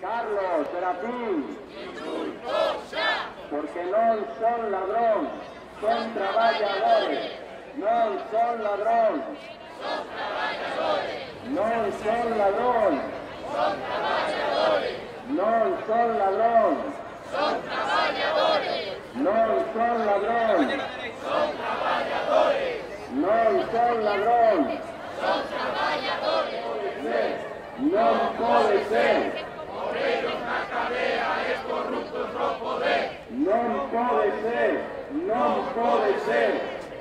Carlos Serafín, porque non son ladrón, son traballadores, non son ladrón, non son ladrón, non son ladrón, non son ladrón, non son ladrón, non pode ser. Non pode ser, non pode ser,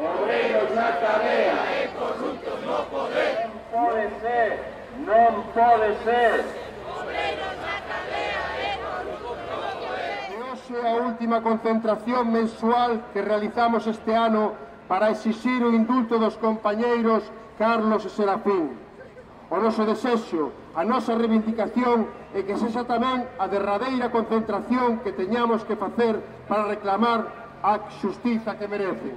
obreiros na cadea e corruptos no poder. Non pode ser, non pode ser. Obreiros na cadea e corruptos no poder. E hoxe a última concentración mensual que realizamos este ano para exixir o indulto dos compañeiros Carlos e Serafín. O noso desexo, a nosa reivindicación é que sexa tamén a derradeira concentración que teñamos que facer para reclamar a xustiza que merecen.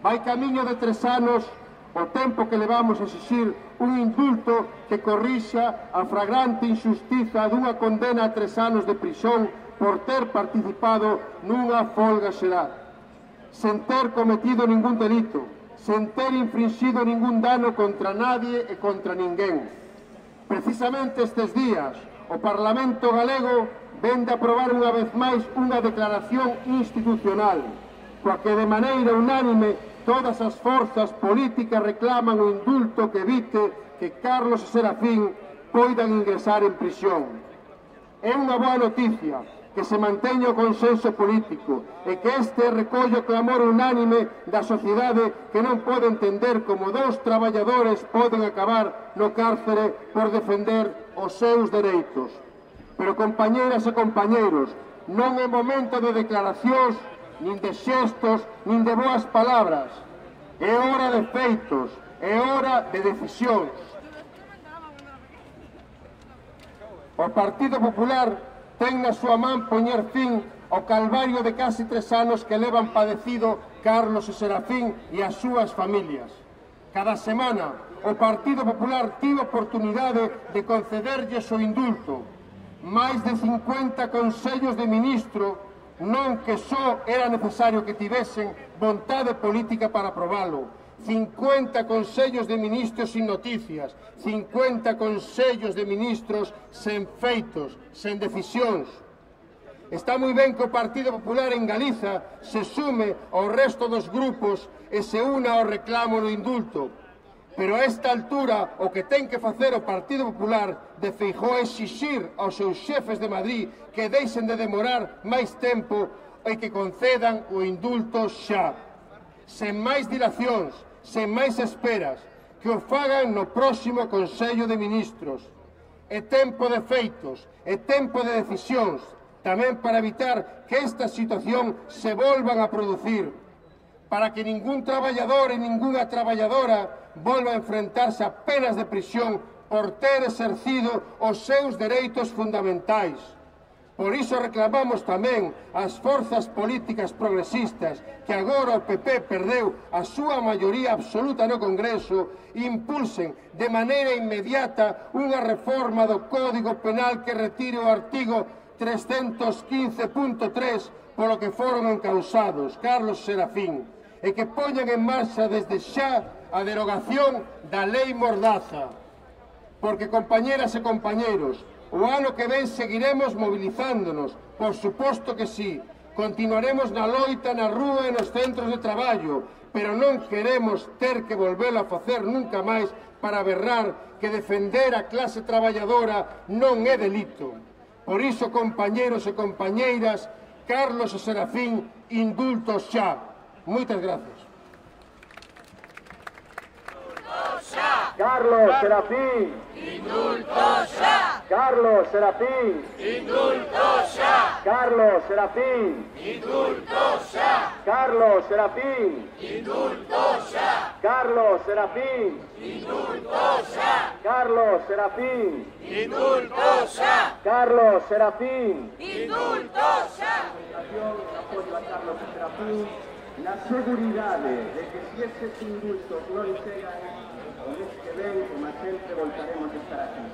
Vai camiño de 3 anos o tempo que levamos a exixir un indulto que corrixa a flagrante injustiza dunha condena a 3 anos de prisión por ter participado nunha folga xeral, sen ter cometido ningún delito, sen ter infringido ningún dano contra nadie e contra ninguén. Precisamente estes días, o Parlamento galego vende a aprobar unha vez máis unha declaración institucional, coa que de maneira unánime todas as forzas políticas reclaman o indulto que evite que Carlos e Serafín poidan ingresar en prisión. É unha boa noticia que se manteña o consenso político e que este recolle o clamor unánime da sociedade que non pode entender como 2 traballadores poden acabar no cárcere por defender os seus dereitos. Pero, compañeras e compañeiros, non é momento de declaracións, nin de xestos, nin de boas palabras. É hora de feitos, é hora de decisións. O Partido Popular ten na súa man poñer fin ao calvario de casi 3 anos que levan padecido Carlos e Serafín e as súas familias. Cada semana o Partido Popular tivo oportunidade de concederlles o indulto. Mais de 50 consellos de ministro, non que só era necesario que tivesen vontade política para aprobalo. 50 consellos de ministros sin noticias, 50 consellos de ministros sen feitos, sen decisións. Está moi ben que o Partido Popular en Galiza se sume ao resto dos grupos e se una ao reclamo do indulto. Pero a esta altura o que ten que facer o Partido Popular de Feijóo é exixir aos seus xefes de Madrid que deixen de demorar máis tempo e que concedan o indulto xa. Sen máis dilacións, sen máis esperas, que o fagan no próximo Consello de Ministros. É tempo de feitos, é tempo de decisións, tamén para evitar que esta situación se volvan a producir, para que ningún traballador e ningunha traballadora volva a enfrentarse a penas de prisión por ter exercido os seus dereitos fundamentais. Por iso reclamamos tamén as forzas políticas progresistas que agora o PP perdeu a súa maioría absoluta no Congreso impulsen de maneira inmediata unha reforma do Código Penal que retire o artigo 315.3 polo que foron encausados Carlos e Serafín e que poñan en marcha desde xa a derogación da Lei Mordaza. Porque, compañeras e compañeiros, o ano que ven seguiremos mobilizándonos, por suposto que sí. Continuaremos na loita, na rúa e nos centros de traballo, pero non queremos ter que volvelo a facer nunca máis para berrar que defender a clase traballadora non é delito. Por iso, compañeros e compañeiras, Carlos e Serafín, indultos xa. Moitas gracias. Carlos Serafín, Indulto xa! Carlos Serafín, Indulto xa! Carlos Serafín, Indulto xa! Carlos Serafín, Indulto xa! Carlos Serafín, Indulto xa! Carlos Serafín, Indulto xa! Carlos Serafín. Indulto xa! Apoyo a Carlos Serafín, la seguridade de que si estes indultos non chegan, o mes que ven, como sempre, voltaremos a estar aquí.